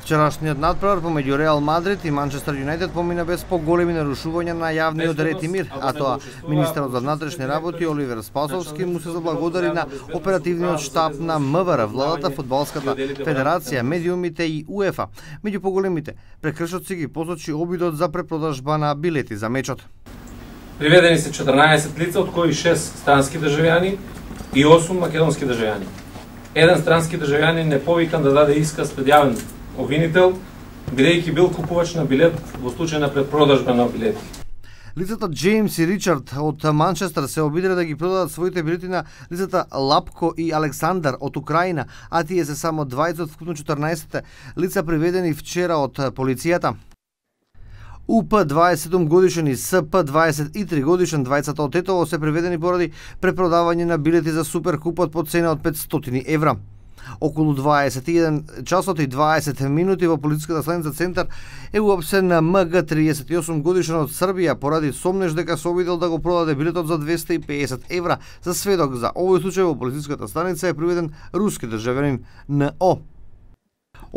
Вчерашниот надпревар помеѓу Реал Мадрид и Манчестер Юнајтед помина без поголеми нарушувања на јавниот ред и мир, а тоа министерот за внатрешни работи Оливер Спасовски му се заблагодари на оперативниот штаб на МВР, владата, фудбалската федерација, медиумите и УЕФА. Меѓу поголемите прекршоци ги посочи обидот за препродажба на билети за мечот. Приведени се 14 лица, од кои 6 странски државјани и 8 македонски државјани. Еден странски државјанин не повикан да даде исказ пред јавен обвинител, бидејќи бил купувач на билет во случај на препродажба на билети. Лицата Джеймс и Ричард од Манчестер се обиделе да ги продадат своите билети на лицата Лапко и Александар од Украина, а тие се само 20 од вкупно 14 лица приведени вчера од полицијата. УП 27 годишен и СП 23 годишен, двајцата од Тетово се приведени поради препродавање на билети за Суперкупот по цена од 500 евра. Околу 21 часот и 20 минути во полициската станица Центар е уапсен на МГ 38 годишен од Србија поради сомнеж дека се обидел да го продаде билетот за 250 евра. За сведок за овој случај во полициската станица е приведен руски државјанин НО.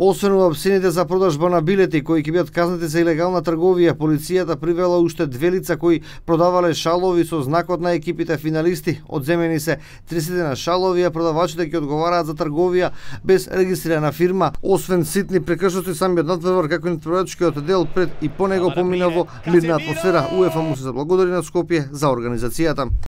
Освен уапсените за продажба на билети кои ќе бидат казнати за илегална трговија, полицијата привела уште 2 лица кои продавале шалови со знакот на екипите финалисти. Одземени се 30 шалови, а продавачите ќе одговараат за трговија без регистрирана фирма. Освен ситни прекршоци, самиот надпревар како и надпреварачкиот дел пред и по него помина во мирна атмосфера. УЕФА му се заблагодари на Скопје за организацијата.